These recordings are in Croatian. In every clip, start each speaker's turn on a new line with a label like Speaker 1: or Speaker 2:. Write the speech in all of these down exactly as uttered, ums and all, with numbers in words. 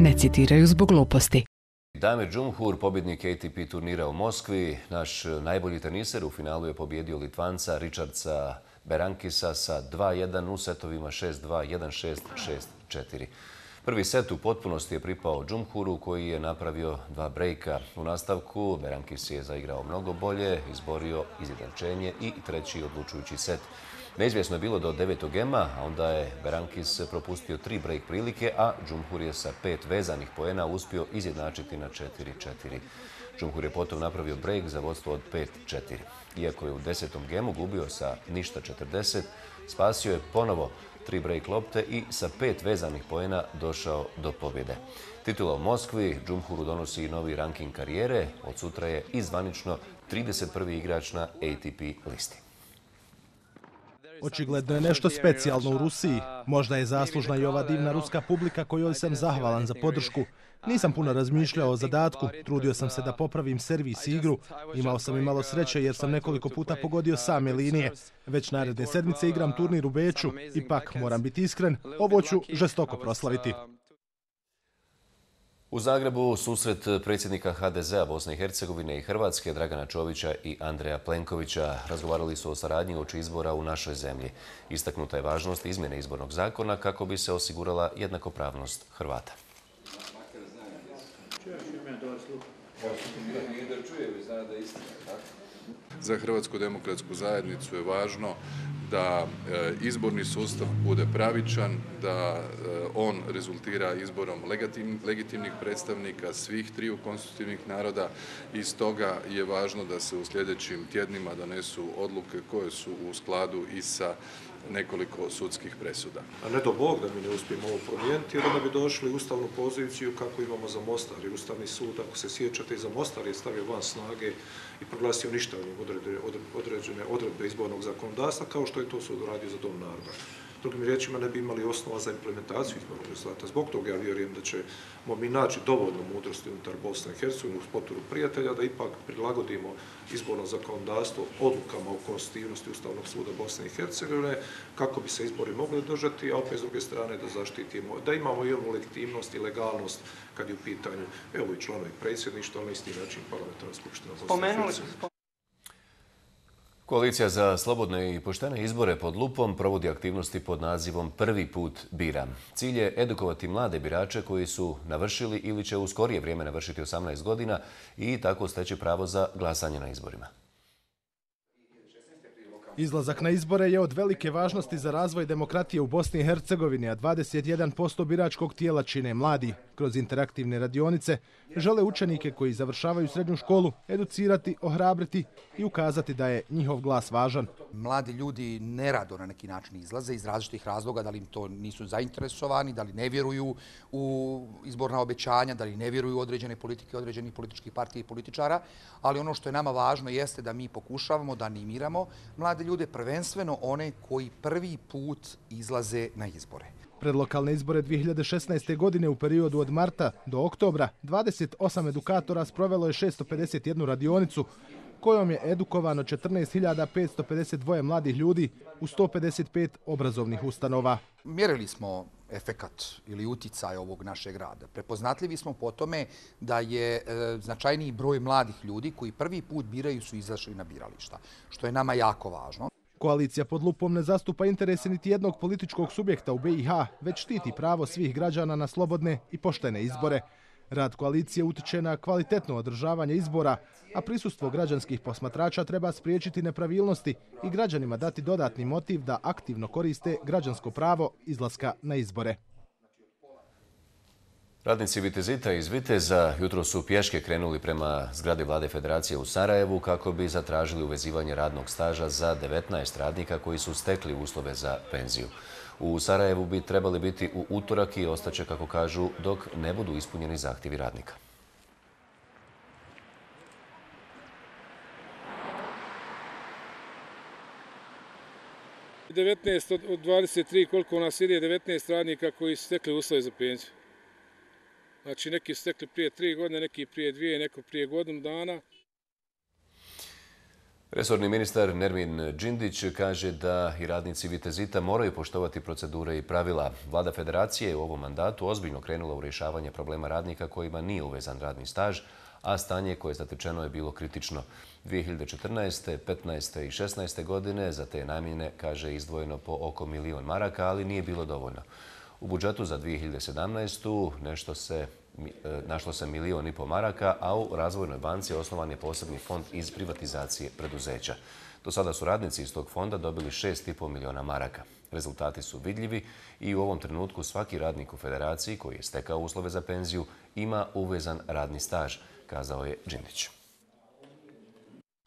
Speaker 1: ne citiraju zbog gluposti.
Speaker 2: Damir Džumhur, pobjednik A T P turnira u Moskvi, naš najbolji teniser, u finalu je pobjedio Litvanca Richardsa Berankisa sa dva jedan u setovima šest dva, jedan šest, šest četiri. Prvi set u potpunosti je pripao Džumhuru, koji je napravio dva brejka. U nastavku Berankis je zaigrao mnogo bolje, izborio izjednačenje i treći odlučujući set. Neizvjesno je bilo do devetog gema, a onda je Berankis propustio tri brejk prilike, a Džumhur je sa pet vezanih poena uspio izjednačiti na četiri četiri. Džumhur je potom napravio brejk za vodstvo od pet četiri. Iako je u desetom gemu gubio sa ništa četrdeset, spasio je ponovo tri brejk lopte i sa pet vezanih poena došao do pobjede. Titula u Moskvi Džumhuru donosi novi ranking karijere. Od sutra je i zvanično trideset prvi igrač na A T P listi.
Speaker 3: Očigledno je nešto specijalno u Rusiji. Možda je zaslužna i ova divna ruska publika kojoj sam zahvalan za podršku. Nisam puno razmišljao o zadatku, trudio sam se da popravim servis i igru. Imao sam i malo sreće jer sam nekoliko puta pogodio same linije. Već naredne sedmice igram turnir u Beču. Ipak, moram biti iskren, ovo ću žestoko proslaviti.
Speaker 2: U Zagrebu susret predsjednika H D Z-a Bosne i Hercegovine i Hrvatske Dragana Čovića i Andreja Plenkovića razgovarali su o saradnji uoči izbora u našoj zemlji. Istaknuta je važnost izmjene izbornog zakona kako bi se osigurala jednakopravnost Hrvata.
Speaker 4: Za Hrvatsku demokratsku zajednicu je važno da izborni sustav bude pravičan, da on rezultira izborom legitimnih predstavnika svih triju konstitutivnih naroda i stoga je važno da se u sljedećim tjednima donesu odluke koje su u skladu i sa nekoliko sudskih presuda.
Speaker 5: A ne do Bog da mi ne uspijemo ovo promijeniti, jer onda bi došli u ustavnu poziciju kako imamo za Mostar. Jer Ustavni sud, ako se sjećate, i za Mostar je stavio van snage i proglasio ništavnim određene odredbe izbornog zakonodavstva, kao što je to sud uradio za Dom naroda. Drugim riječima, ne bi imali osnova za implementaciju izbornog rezultata. Zbog toga ja vjerujem da ćemo mi naći dovoljno mudrosti unutar Bosne i Hercegovine uz potporu prijatelja da ipak prilagodimo izborno zakonodavstvo odlukama o konstitutivnosti Ustavnog suda Bosne i Hercegovine kako bi se izbori mogli održati, a opet s druge strane da zaštitimo, da imamo i onu legitimnost i legalnost kad je u pitanju, evo i članovi predsjedništva, ali na isti način parlamentarna skupština Bosne i Hercegovine.
Speaker 2: Koalicija za slobodne i poštene izbore pod lupom provodi aktivnosti pod nazivom Prvi put biram. Cilj je edukovati mlade birače koji su navršili ili će u skorije vrijeme navršiti osamnaest godina i tako steći pravo za glasanje na izborima.
Speaker 3: Izlazak na izbore je od velike važnosti za razvoj demokratije u Bosni i Hercegovini, a dvadeset jedan posto biračkog tijela čine mladi. Kroz interaktivne radionice žele učenike koji završavaju srednju školu educirati, ohrabriti i ukazati da je njihov glas važan.
Speaker 6: Mladi ljudi nerado na neki način izlaze iz različitih razloga, da li im to nisu zainteresovani, da li ne vjeruju u izborna obećanja, da li ne vjeruju u određene politike, određenih političkih partija i političara, ali ono što je nama važno jeste da mi pokušavamo da animiramo mlade ljude, prvenstveno one koji prvi put izlaze na izbore.
Speaker 3: Pred lokalne izbore dvije hiljade šesnaeste. godine u periodu od marta do oktobra dvadeset osam edukatora sprovelo je šesto pedeset jednu radionicu kojom je edukovano četrnaest hiljada petsto pedeset dva mladih ljudi u sto pedeset pet obrazovnih ustanova.
Speaker 6: Mjerili smo efekat ili uticaj ovog našeg rada. Prepoznatljivi smo po tome da je e, značajniji broj mladih ljudi koji prvi put biraju su izašli na birališta, što je nama jako važno.
Speaker 3: Koalicija pod lupom ne zastupa interese niti jednog političkog subjekta u B i H, već štiti pravo svih građana na slobodne i poštene izbore. Rad koalicije utiče na kvalitetno održavanje izbora, a prisustvo građanskih posmatrača treba spriječiti nepravilnosti i građanima dati dodatni motiv da aktivno koriste građansko pravo izlaska na izbore.
Speaker 2: Radnici Vitezita iz Viteza jutro su pješke krenuli prema zgradi Vlade Federacije u Sarajevu kako bi zatražili uvezivanje radnog staža za devetnaest radnika koji su stekli uslove za penziju. U Sarajevu bi trebali biti u utorak i ostaće, kako kažu, dok ne budu ispunjeni zahtjevi radnika.
Speaker 7: devetnaest od dvadeset tri, koliko nas ide, devetnaest radnika koji su stekli uslove za penziju. Znači, neki su stekli prije tri godine, neki prije dvije, neko prije godinu dana.
Speaker 2: Resorni ministar Nermin Džindić kaže da i radnici Vitezita moraju poštovati procedure i pravila. Vlada Federacije je u ovom mandatu ozbiljno krenula u rješavanje problema radnika kojima nije uvezan radni staž, a stanje koje je zatečeno je bilo kritično. dvije hiljade četrnaeste, petnaeste i šesnaeste godine za te namjene, kaže, izdvojeno po oko milion maraka, ali nije bilo dovoljno. U budžetu za dvije hiljade sedamnaestu nešto se našlo se milion i po maraka, a u Razvojnoj banci osnovan je posebni fond iz privatizacije preduzeća. Do sada su radnici iz tog fonda dobili šest i po miliona maraka. Rezultati su vidljivi i u ovom trenutku svaki radnik u Federaciji koji je stekao uslove za penziju ima uvezan radni staž, kazao je Džindić.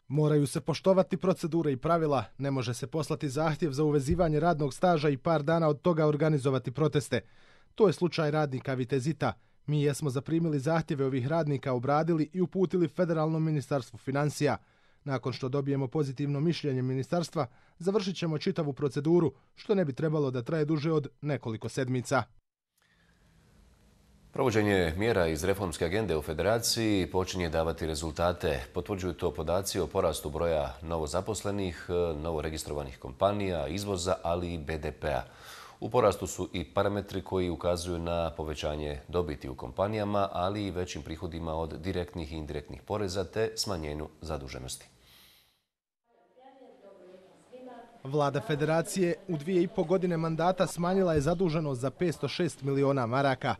Speaker 3: Moraju se poštovati procedure i pravila, ne može se poslati zahtjev za uvezivanje radnog staža i par dana od toga organizovati proteste. To je slučaj radnika Vitezita. Mi jesmo zaprimili zahtjeve ovih radnika, obradili i uputili Federalnom ministarstvu financija. Nakon što dobijemo pozitivno mišljenje ministarstva, završit ćemo čitavu proceduru, što ne bi trebalo da traje duže od nekoliko sedmica.
Speaker 2: Provođenje mjera iz reformske agende u Federaciji počinje davati rezultate. Potvrđuju to podaci o porastu broja novozaposlenih, novoregistrovanih kompanija, izvoza, ali i be de pea. U porastu su i parametri koji ukazuju na povećanje dobiti u kompanijama, ali i većim prihodima od direktnih i indirektnih poreza te smanjenju zaduženosti.
Speaker 3: Vlada Federacije u dvije i po godine mandata smanjila je zaduženost za petsto šest miliona maraka.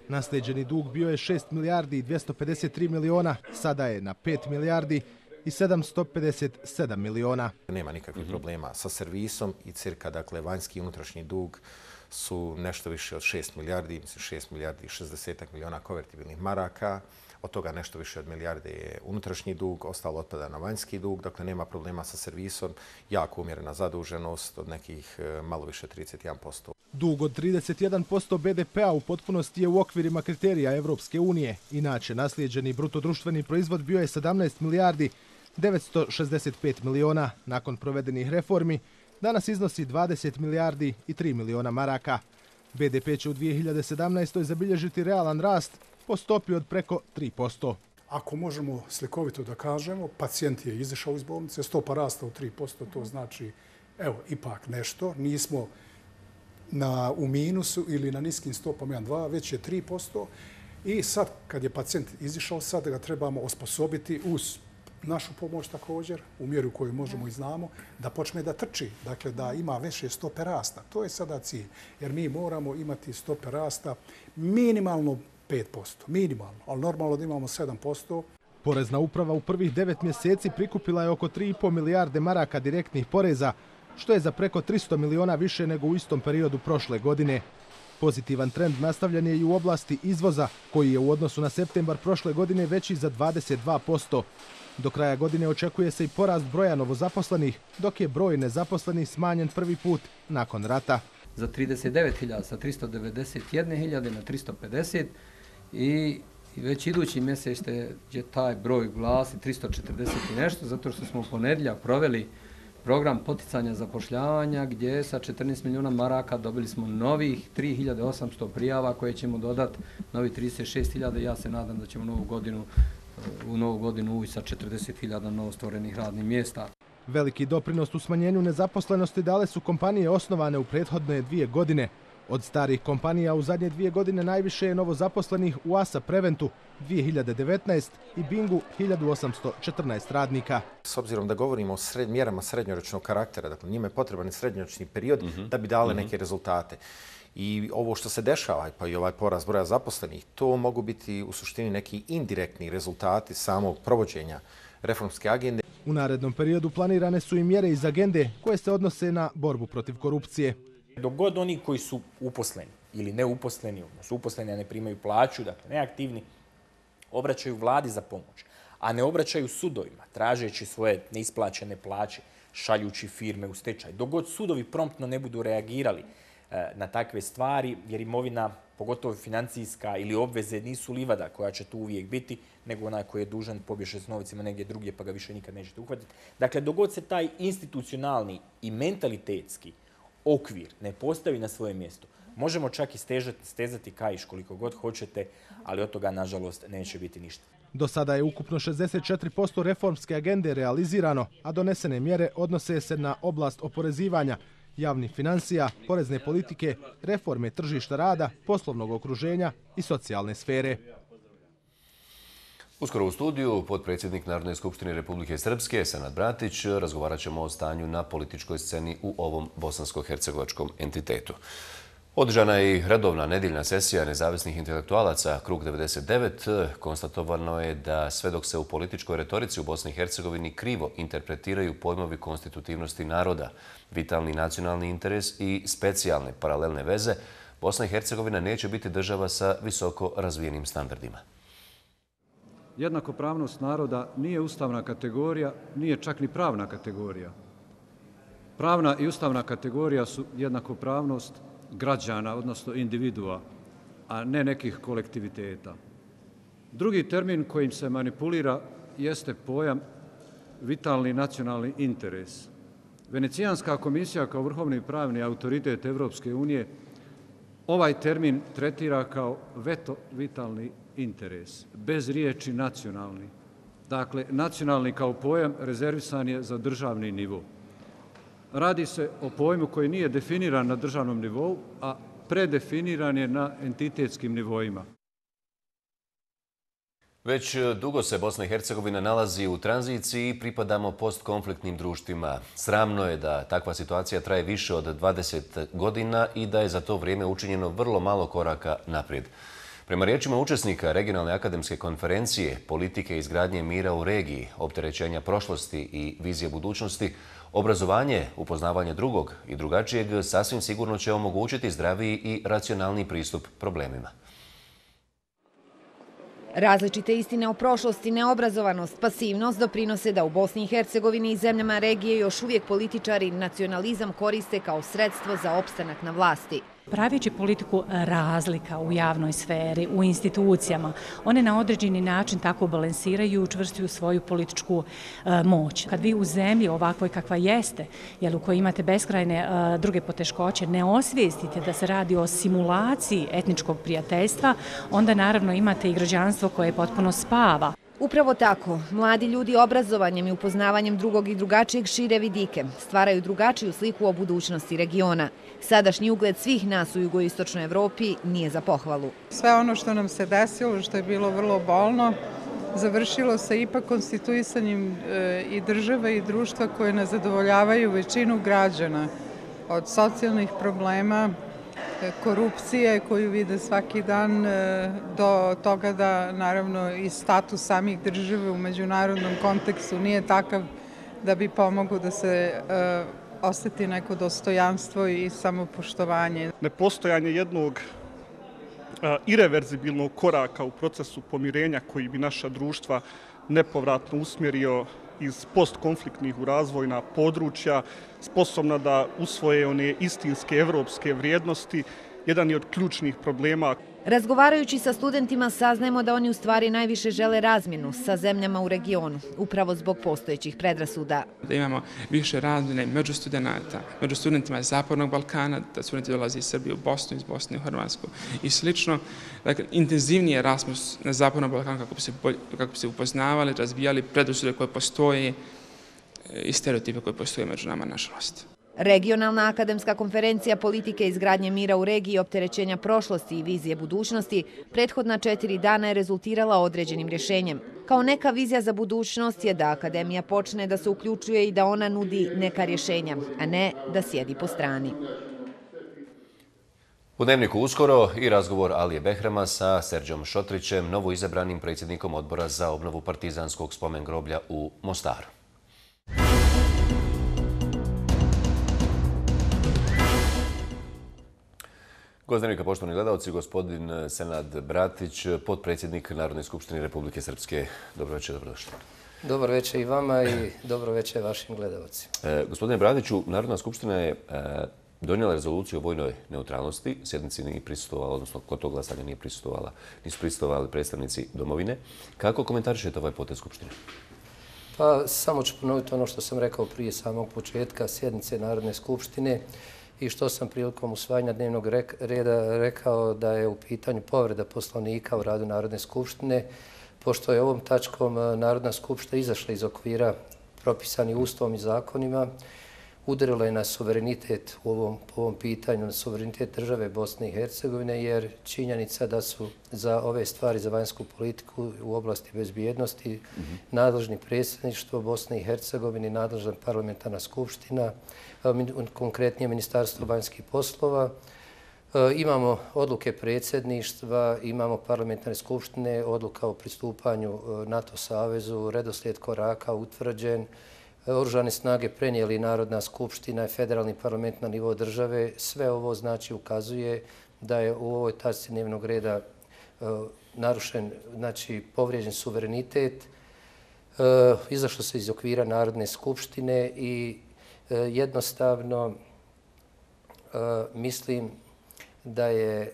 Speaker 3: Naslijeđeni dug bio je šest milijardi i dvjesto pedeset tri miliona, sada je na pet milijardi i sedamsto pedeset sedam miliona.
Speaker 8: Nema nikakvih problema sa servisom i cirka, dakle, vanjski i unutrašnji dug su nešto više od šest milijardi, mislim šest milijardi i šezdeset miliona konvertibilnih maraka. Od toga nešto više od milijarde je unutrašnji dug, ostalo otpada na vanjski dug, dakle nema problema sa servisom, jako umjerena zaduženost od nekih malo više trideset jedan posto.
Speaker 3: Dug od trideset jedan posto be de pea u potpunosti je u okvirima kriterija Evropske unije. Inače, naslijeđeni brutodruštveni proizvod bio je sedamnaest milijardi devetsto šezdeset pet miliona. Nakon provedenih reformi, danas iznosi dvadeset milijardi i tri miliona maraka. be de pe će u dvije hiljade sedamnaestoj zabilježiti realan rast po stopi od preko tri posto.
Speaker 9: Ako možemo slikovito da kažemo, pacijent je izašao iz bolnice, stopa rasta u tri posto, to znači, evo, ipak nešto, nismo na, u minusu ili na niskim stopama jedan dva, već je tri posto. I sad, kad je pacijent izišao, sad ga trebamo osposobiti uz našu pomoć također, u mjeru koju možemo i znamo, da počne da trči, dakle da ima veće stope rasta. To je sada cilj, jer mi moramo imati stope rasta minimalno pet posto, minimalno, ali normalno da imamo sedam posto.
Speaker 3: Porezna uprava u prvih devet mjeseci prikupila je oko tri i po milijarde maraka direktnih poreza, što je za preko tristo miliona više nego u istom periodu prošle godine. Pozitivan trend nastavljen je i u oblasti izvoza, koji je u odnosu na septembar prošle godine veći za dvadeset dva posto. Do kraja godine očekuje se i porast broja novozaposlenih, dok je broj nezaposlenih smanjen prvi put nakon rata.
Speaker 10: Za trideset devet hiljada sa tristo devedeset jedne hiljade na tristo pedeset i već idući mjesec će taj broj glasi tristo četrdeset i nešto, zato što smo u ponedjeljak proveli program poticanja zapošljavanja gdje sa četrnaest miliona maraka dobili smo novih tri hiljade osamsto prijava koje ćemo dodati, novi trideset šest hiljada. Ja se nadam da ćemo novu godinu, u novu godinu ući sa četrdeset hiljada novostvorenih radnih mjesta.
Speaker 3: Veliki doprinos u smanjenju nezaposlenosti dale su kompanije osnovane u prethodne dvije godine. Od starih kompanija u zadnje dvije godine najviše je novozaposlenih u A S A Preventu dvije hiljade devetnaeste i Bingu hiljadu osamsto četrnaest radnika.
Speaker 8: S obzirom da govorimo o sred, mjerama srednjoročnog karaktera, dakle njima je potreban i srednjoročni period mm-hmm. da bi dale mm-hmm. neke rezultate. I ovo što se dešava, pa i ovaj porast broja zaposlenih, to mogu biti u suštini neki indirektni rezultati samog provođenja reformske agende.
Speaker 3: U narednom periodu planirane su i mjere iz agende koje se odnose na borbu protiv korupcije.
Speaker 11: Dok god oni koji su uposleni ili neuposleni, odnosno uposleni a ne primaju plaću, dakle neaktivni, obraćaju vladi za pomoć, a ne obraćaju sudovima, tražeći svoje neisplaćene plaće, šaljući firme u stečaj. Dok god sudovi promptno ne budu reagirali e, na takve stvari, jer imovina, pogotovo financijska ili obveze, nisu livada koja će tu uvijek biti, nego onaj koji je dužan pobježe s novicima negdje drugdje pa ga više nikad nećete uhvatiti. Dakle, dok god se taj institucionalni i mentalitetski okvir ne postavi na svoje mjesto, možemo čak i stežati, stezati kaiš koliko god hoćete, ali od toga, nažalost, neće biti ništa.
Speaker 3: Do sada je ukupno šezdeset četiri posto reformske agende realizirano, a donesene mjere odnose se na oblast oporezivanja, javnih financija, porezne politike, reforme tržišta rada, poslovnog okruženja i socijalne sfere.
Speaker 2: Uskoro u studiju potpredsjednik Narodne skupštine Republike Srpske, Senad Bratić, razgovarat ćemo o stanju na političkoj sceni u ovom bosansko-hercegovačkom entitetu. Održana je i redovna nedeljna sesija nezavisnih intelektualaca Krug devedeset devet. Konstatovano je da sve dok se u političkoj retorici u Bosni i Hercegovini krivo interpretiraju pojmovi konstitutivnosti naroda, vitalni nacionalni interes i specijalne paralelne veze, Bosna i Hercegovina neće biti država sa visoko razvijenim standardima.
Speaker 12: Jednakopravnost naroda nije ustavna kategorija, nije čak ni pravna kategorija. Pravna i ustavna kategorija su jednakopravnost građana, odnosno individua, a ne nekih kolektiviteta. Drugi termin kojim se manipulira jeste pojam vitalni nacionalni interes. Venecijanska komisija kao vrhovni pravni autoritet Evropske unije ovaj termin tretira kao veto vitalni interes, bez riječi nacionalni. Dakle, nacionalni kao pojam rezervisan je za državni nivo. Radi se o pojmu koji nije definiran na državnom nivou, a predefiniran je na entitetskim nivoima.
Speaker 2: Već dugo se Bosna i Hercegovina nalazi u tranziciji i pripadamo postkonfliktnim društvima. Sramno je da takva situacija traje više od dvadeset godina i da je za to vrijeme učinjeno vrlo malo koraka naprijed. Prema riječima učesnika regionalne akademske konferencije politike izgradnje mira u regiji, opterećenja prošlosti i vizije budućnosti, obrazovanje, upoznavanje drugog i drugačijeg sasvim sigurno će omogućiti zdraviji i racionalniji pristup problemima.
Speaker 13: Različite istine o prošlosti, neobrazovanost, pasivnost doprinose da u Bosni i Hercegovini i zemljama regije još uvijek političari nacionalizam koriste kao sredstvo za opstanak na vlasti.
Speaker 14: Praveći politiku razlika u javnoj sferi, u institucijama, one na određeni način tako balansiraju i učvrstuju svoju političku e, moć. Kad vi u zemlji ovakvoj kakva jeste, jer u kojoj imate beskrajne e, druge poteškoće, ne osvijestite da se radi o simulaciji etničkog prijateljstva, onda naravno imate i građanstvo koje potpuno spava.
Speaker 13: Upravo tako, mladi ljudi obrazovanjem i upoznavanjem drugog i drugačijeg šire vidike stvaraju drugačiju sliku o budućnosti regiona. Sadašnji ugled svih nas u jugoistočnoj Evropi nije za pohvalu.
Speaker 15: Sve ono što nam se desilo, što je bilo vrlo bolno, završilo se ipak konstituisanjem i države i društva koje ne zadovoljavaju većinu građana. Od socijalnih problema, korupcije koju vide svaki dan, do toga da naravno i status samih države u međunarodnom kontekstu nije takav da bi pomogao da se osjeti neko dostojanstvo i samopoštovanje.
Speaker 16: Nepostojanje jednog ireverzibilnog koraka u procesu pomirenja koji bi naša društva nepovratno usmjerio iz postkonfliktnih u razvojna područja, sposobna da usvoje one istinske evropske vrijednosti, jedan je od ključnih problema.
Speaker 13: Razgovarajući sa studentima saznajemo da oni u stvari najviše žele razmjenu sa zemljama u regionu, upravo zbog postojećih predrasuda.
Speaker 17: Da imamo više razmjene među studenata, među studentima iz Zapadnog Balkana, da studenti dolaze iz Srbije u Bosnu, iz Bosne u Hrvatsku i slično. Dakle, intenzivniji Erasmus na Zapadnom Balkanu kako bi se, kako bi se upoznavali, razvijali predrasude koje postoje i stereotipe koje postoje među nama, nažalost.
Speaker 13: Regionalna akademska konferencija politike izgradnje mira u regiji, opterećenja prošlosti i vizije budućnosti prethodna četiri dana je rezultirala određenim rješenjem. Kao neka vizija za budućnost je da akademija počne da se uključuje i da ona nudi neka rješenja, a ne da sjedi po strani.
Speaker 2: U Dnevniku uskoro i razgovor Alije Behrama sa Serđom Šotrićem, novoizabranim predsjednikom odbora za obnovu partizanskog spomen groblja u Mostaru. Gost Dnevnika, poštovani gledalci, gospodin Senad Bratić, potpredsjednik Narodne skupštine Republike Srpske. Dobro večer, dobrodošli.
Speaker 18: Dobro večer i vama i dobro večer vašim gledalcima.
Speaker 2: E, gospodine Bratiću, Narodna skupština je e, donijela rezoluciju o vojnoj neutralnosti. Sjednici nije prisustvovala, odnosno kod tog glasanja nije prisustvovala, nisu prisustvovali predstavnici domovine. Kako komentarišete ovaj potez skupštine?
Speaker 18: Pa samo ću ponoviti ono što sam rekao prije samog početka sjednice Narodne skupštine i što sam prilikom usvajanja dnevnog reda rekao da je u pitanju povreda poslovnika u radu Narodne skupštine pošto je ovom tačkom Narodna skupština izašla iz okvira propisani Ustavom i zakonima, udarila je na suverenitet u ovom, po ovom pitanju, na suverenitet države Bosne i Hercegovine, jer činjenica da su za ove stvari, za vanjsku politiku u oblasti bezbjednosti, mm-hmm. nadležni predsjedništvo Bosne i Hercegovine, nadležna parlamentarna skupština, konkretnije Ministarstvo vanjskih poslova. Imamo odluke predsjedništva, imamo parlamentarne skupštine, odluka o pristupanju NATO savezu, redoslijed koraka utvrđen, Oružane snage prenijeli Narodna skupština i federalni parlament na nivo države. Sve ovo znači ukazuje da je u ovoj tačci dnevnog reda narušen, znači povrijeđen suverenitet, izašlo se iz okvira Narodne skupštine i jednostavno mislim da je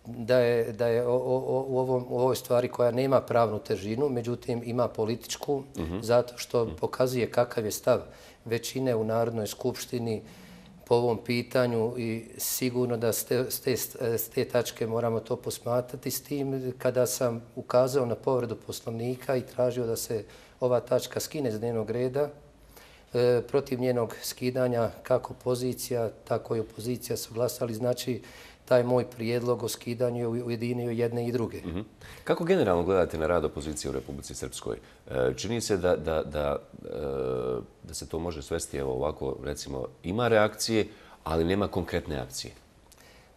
Speaker 18: da je, da je o, o, u, ovom, u ovoj stvari koja nema pravnu težinu, međutim ima političku, mm-hmm. zato što mm-hmm. pokazuje kakav je stav većine u Narodnoj skupštini po ovom pitanju i sigurno da s te, s te, s te tačke moramo to posmatrati. S tim kada sam ukazao na povredu Poslovnika i tražio da se ova tačka skine s dnevnog reda, e, protiv njenog skidanja kako pozicija, tako i opozicija su glasali, znači taj moj prijedlog o skidanju je ujedinio jedne i druge.
Speaker 2: Mm-hmm. Kako generalno gledate na rad opozicije u Republici Srpskoj? E, čini se da, da, da, e, da se to može svesti, evo ovako, recimo, ima reakcije, ali nema konkretne akcije.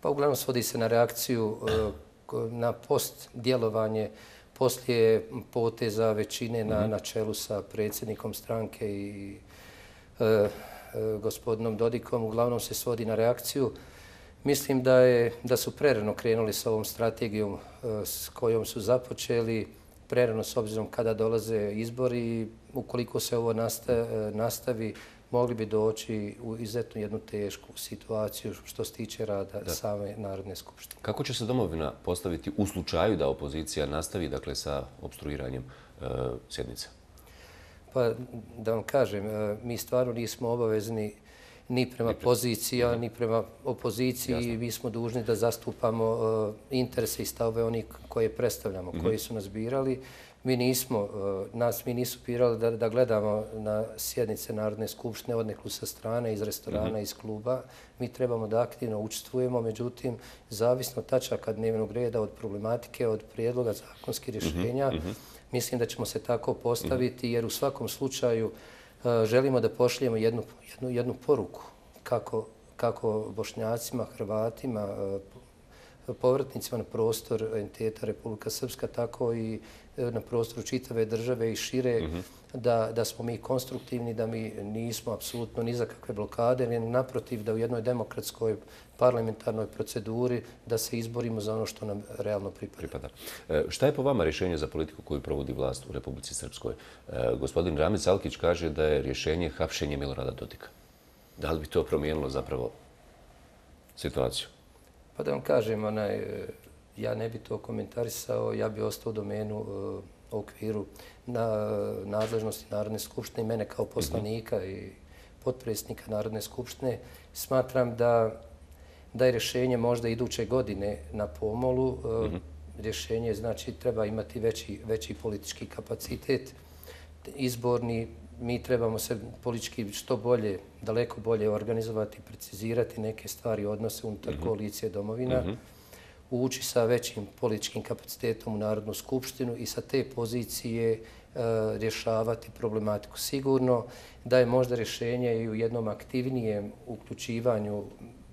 Speaker 18: Pa uglavnom svodi se na reakciju, e, na post djelovanje poslije poteza većine na, mm-hmm. na čelu sa predsjednikom stranke i e, e, gospodinom Dodikom. Uglavnom se svodi na reakciju. Mislim da, je, da su prerano krenuli s ovom strategijom s kojom su započeli, prerano s obzirom kada dolaze izbori i ukoliko se ovo nastavi, mogli bi doći u izuzetno jednu tešku situaciju što se tiče rada da. same Narodne skupštine.
Speaker 2: Kako će se domovina postaviti u slučaju da opozicija nastavi dakle, sa obstruiranjem e, sjednice?
Speaker 18: Pa da vam kažem, mi stvarno nismo obavezni ni prema poziciji, ni prema opoziciji. Jasno. Mi smo dužni da zastupamo uh, interese i stavove onih koje predstavljamo, mm-hmm. koji su nas birali. Mi nismo, uh, nas mi nisu birali da, da gledamo na sjednice Narodne skupštine odneku sa strane, iz restorana, mm-hmm. iz kluba. Mi trebamo da aktivno učestvujemo, međutim, zavisno tačaka dnevnog reda od problematike, od prijedloga zakonskih rješenja, mm-hmm. mislim da ćemo se tako postaviti, mm-hmm. jer u svakom slučaju želimo da pošaljemo jednu, jednu, jednu poruku kako, kako Bošnjacima, Hrvatima, povratnicima na prostor entiteta Republika Srpska, tako i na prostoru čitave države i šire, mm-hmm. da, da smo mi konstruktivni, da mi nismo apsolutno ni za kakve blokade, ne naprotiv da u jednoj demokratskoj parlamentarnoj proceduri da se izborimo za ono što nam realno pripada.
Speaker 2: pripada. E, šta je po vama rješenje za politiku koju provodi vlast u Republici Srpskoj? E, gospodin Ramiz Alkić kaže da je rješenje hapšenje Milorada Dodika. Da li bi to promijenilo zapravo situaciju?
Speaker 18: Pa da vam kažem, onaj, ja ne bi to komentarisao, ja bi ostao u domenu uh, okviru na nadležnosti Narodne skupštine i mene kao poslanika mm-hmm. i potpredsjednika Narodne skupštine. Smatram da, da je rješenje možda iduće godine na pomolu. Uh, mm-hmm. Rješenje znači treba imati veći, veći politički kapacitet, izborni. Mi trebamo se politički što bolje, daleko bolje organizovati, precizirati neke stvari, odnose unutar mm-hmm. koalicije domovina, mm-hmm. ući sa većim političkim kapacitetom u Narodnu skupštinu i sa te pozicije e, rješavati problematiku. Sigurno da je možda rješenje i u jednom aktivnijem uključivanju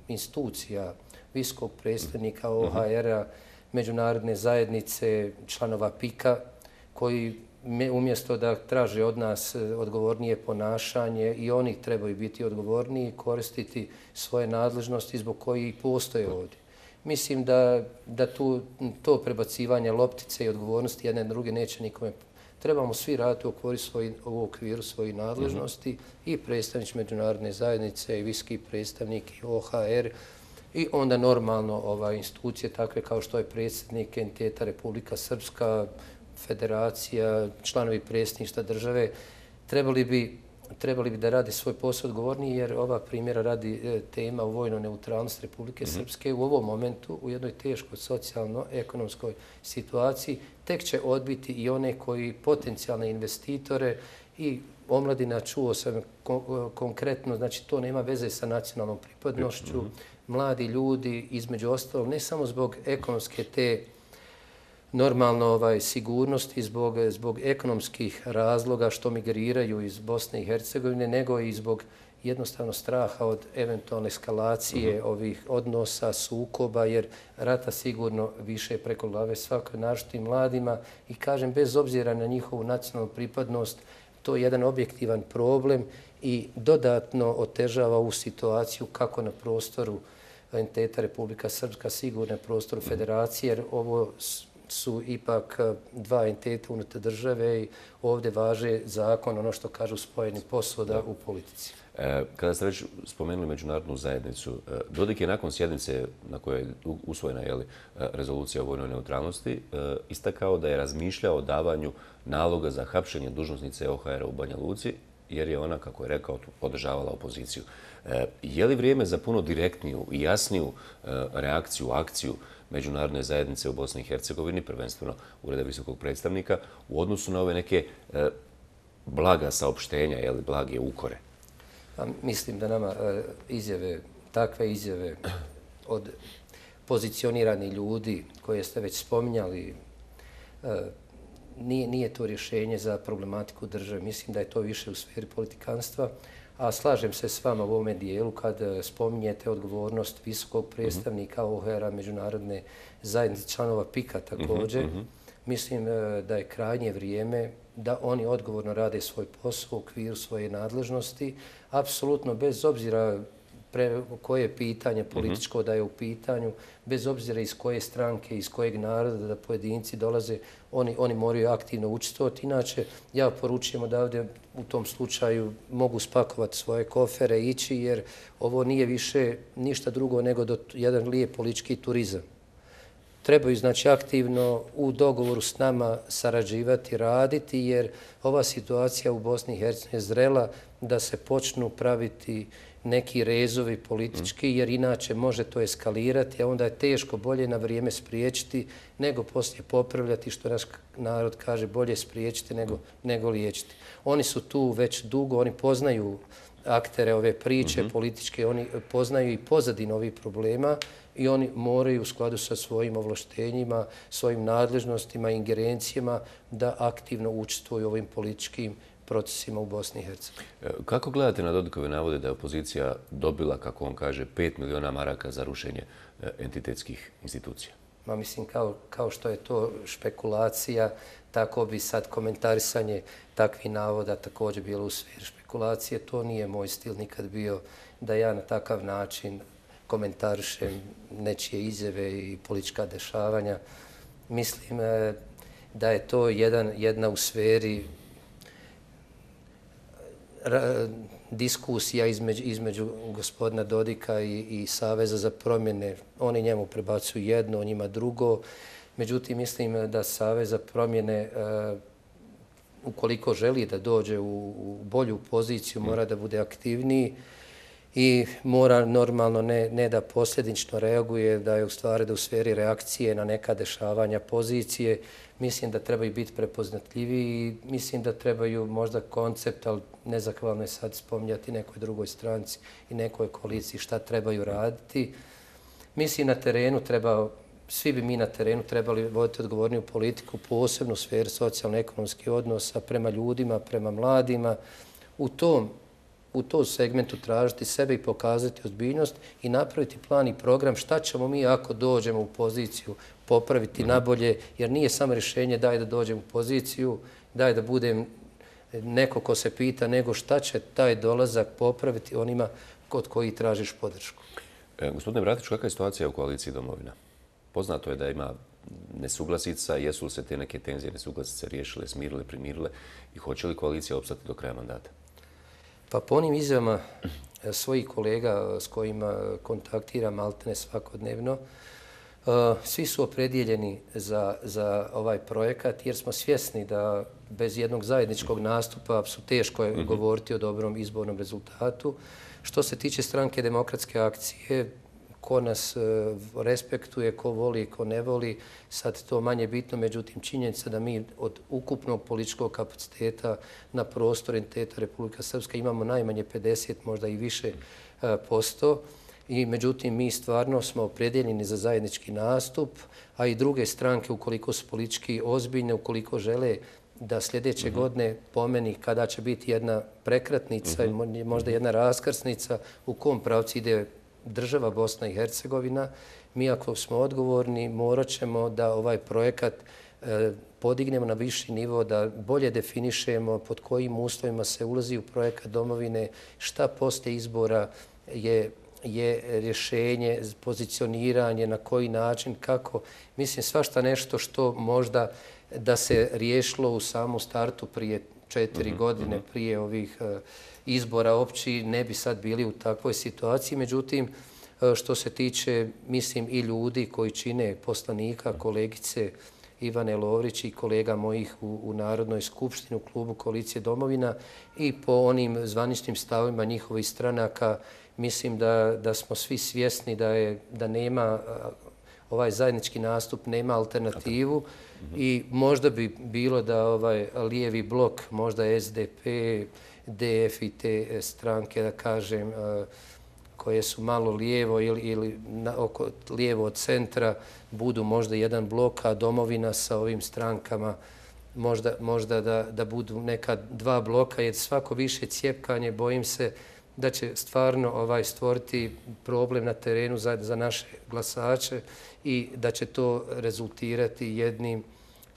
Speaker 18: institucija, visokog predstavnika O H R-a, međunarodne zajednice, članova P I K-a, koji umjesto da traže od nas odgovornije ponašanje i oni trebaju biti odgovorniji, koristiti svoje nadležnosti zbog kojih postoje ovdje. Mislim da, da tu, to prebacivanje loptice i odgovornosti jedne druge neće nikome. Trebamo svi raditi u okviru, svoj, u okviru svojih nadležnosti mm-hmm. i predstavnič međunarodne zajednice i viski predstavnik i O H R i onda normalno ova, institucije takve kao što je predsjednik entiteta Republika Srpska, federacija, članovi predsjedništva države, trebali bi trebali bi da rade svoj posao odgovorniji, jer ova primjera radi tema o vojnoj neutralnosti Republike mm-hmm. Srpske u ovom momentu, u jednoj teškoj socijalno-ekonomskoj situaciji, tek će odbiti i one koji potencijalne investitore i omladina, čuo sam konkretno, znači to nema veze sa nacionalnom pripadnošću, mm-hmm. mladi ljudi, između ostalog, ne samo zbog ekonomske te normalno ovaj, sigurnosti, zbog, zbog ekonomskih razloga što migriraju iz Bosne i Hercegovine, nego i zbog jednostavno straha od eventualne eskalacije mm-hmm. ovih odnosa, sukoba, jer rata sigurno više preko glave svakoj, naročito i mladima. I kažem, bez obzira na njihovu nacionalnu pripadnost, to je jedan objektivan problem i dodatno otežava ovu situaciju kako na prostoru entiteta Republika Srpska, sigurno na prostoru federacije, jer ovo su ipak dva entiteta unutar države i ovdje važe zakon, ono što kažu spojeni posuda u politici.
Speaker 2: E, kada ste već spomenuli međunarodnu zajednicu, Dodik je nakon sjednice na kojoj je usvojena jeli, rezolucija o vojnoj neutralnosti istakao da je razmišljao o davanju naloga za hapšenje dužnosnice O H R-a u Banja Luci, jer je ona, kako je rekao, podržavala opoziciju. E, je li vrijeme za puno direktniju i jasniju e, reakciju, akciju međunarodne zajednice u Bosni i Hercegovini, prvenstveno Ureda visokog predstavnika, u odnosu na ove neke e, blaga saopštenja, jeli, blage ukore?
Speaker 18: A mislim da nama e, izjave, takve izjave od pozicioniranih ljudi koje ste već spominjali, e, nije, nije to rješenje za problematiku države. Mislim da je to više u sferi politikanstva, a slažem se s vama u ovome dijelu kad spominjete odgovornost visokog predstavnika O H R-a, međunarodne zajednice, članova P I K-a također. Mm-hmm. Mislim da je krajnje vrijeme da oni odgovorno rade svoj posao u okviru svoje nadležnosti, apsolutno bez obzira pre, koje pitanje političko da je u pitanju, bez obzira iz koje stranke, iz kojeg naroda da pojedinci dolaze, oni, oni moraju aktivno učestvovati. Inače, ja poručujem odavde u tom slučaju mogu spakovati svoje kofere i ići, jer ovo nije više ništa drugo nego do jedan lijep politički turizam. Trebaju znači aktivno u dogovoru s nama sarađivati, raditi, jer ova situacija u Bosni i Hercegovini je zrela da se počnu praviti neki rezovi politički, jer inače može to eskalirati, a onda je teško bolje na vrijeme spriječiti nego poslije popravljati, što naš narod kaže, bolje spriječiti nego, nego liječiti. Oni su tu već dugo, oni poznaju aktere ove priče mm-hmm. političke, oni poznaju i pozadinu ovih problema i oni moraju u skladu sa svojim ovlaštenjima, svojim nadležnostima, ingerencijama da aktivno učestvuju u ovim političkim procesima u Bosni i Hercegovini.
Speaker 2: Kako gledate na Dodikove navode da je opozicija dobila, kako on kaže, pet miliona maraka za rušenje entitetskih institucija?
Speaker 18: Ma mislim, kao, kao što je to špekulacija, tako bi sad komentarisanje takvih navoda također bilo u sferi špekulacije. To nije moj stil nikad bio da ja na takav način komentarišem nečije izjave i politička dešavanja. Mislim da je to jedan, jedna u sferi diskusija između, između gospodina Dodika i, i Saveza za promjene. Oni njemu prebacuju jedno, on njima drugo. Međutim, mislim da Savez za promjene, uh, ukoliko želi da dođe u, u bolju poziciju, mora da bude aktivniji i mora normalno ne, ne da posljedično reaguje, da je u stvari da u sferi reakcije na neka dešavanja pozicije. Mislim da trebaju biti prepoznatljiviji i mislim da trebaju možda koncept, ali nezahvalno je sad spominjati nekoj drugoj stranci i nekoj koaliciji šta trebaju raditi. Mislim na terenu treba, svi bi mi na terenu trebali voditi odgovorniju politiku, posebno u sferi socijalno-ekonomskih odnosa prema ljudima, prema mladima. U tom u tom segmentu tražiti sebe i pokazati ozbiljnost i napraviti plan i program šta ćemo mi ako dođemo u poziciju popraviti mm-hmm. nabolje, jer nije samo rješenje daj da dođem u poziciju, daj da budem neko ko se pita, nego šta će taj dolazak popraviti onima kod koji tražiš podršku.
Speaker 2: E, gospodine Bratić, kakva je situacija u koaliciji Domovina? Poznato je da ima nesuglasica, jesu li se te neke tenzije nesuglasice riješile, smirile, primirile i hoće li koalicija opstati do kraja mandata?
Speaker 18: Pa po onim izjavama svojih kolega s kojima kontaktiram maltene svakodnevno, Svi su opredijeljeni za, za ovaj projekat jer smo svjesni da bez jednog zajedničkog nastupa su teško je mm-hmm. govoriti o dobrom izbornom rezultatu. Što se tiče Stranke demokratske akcije, ko nas respektuje, ko voli, ko ne voli, sad to manje bitno, međutim činjenica da mi od ukupnog političkog kapaciteta na prostor entiteta Republika Srpska imamo najmanje pedeset, možda i više posto. I međutim, mi stvarno smo opredjeljeni za zajednički nastup, a i druge stranke, ukoliko su politički ozbiljne, ukoliko žele da sljedeće uh-huh. godine pomeni kada će biti jedna prekretnica i uh-huh. možda jedna raskrsnica u kom pravcu ide država Bosna i Hercegovina, mi ako smo odgovorni morat ćemo da ovaj projekat e, podignemo na viši nivo, da bolje definišemo pod kojim uslovima se ulazi u projekat domovine, šta poslije izbora je je rješenje, pozicioniranje, na koji način, kako. Mislim, svašta nešto što možda da se riješilo u samom startu prije četiri uh-huh, godine, uh-huh. prije ovih uh, izbora opći, ne bi sad bili u takvoj situaciji. Međutim, uh, što se tiče, mislim, i ljudi koji čine poslanika, kolegice Ivane Lovrić i kolega mojih u, u Narodnoj skupštini, u klubu Koalicije Domovina i po onim zvaničnim stavima njihovih stranaka, mislim da, da smo svi svjesni da, je, da nema ovaj zajednički nastup, nema alternativu mm-hmm. i možda bi bilo da ovaj lijevi blok, možda S D P, D F i te stranke, da kažem, koje su malo lijevo ili, ili na, oko, lijevo od centra, budu možda jedan blok, a Domovina sa ovim strankama možda, možda da, da budu neka dva bloka, jer svako više cjepkanje, bojim se, da će stvarno ovaj stvoriti problem na terenu za, za naše glasače i da će to rezultirati jednim,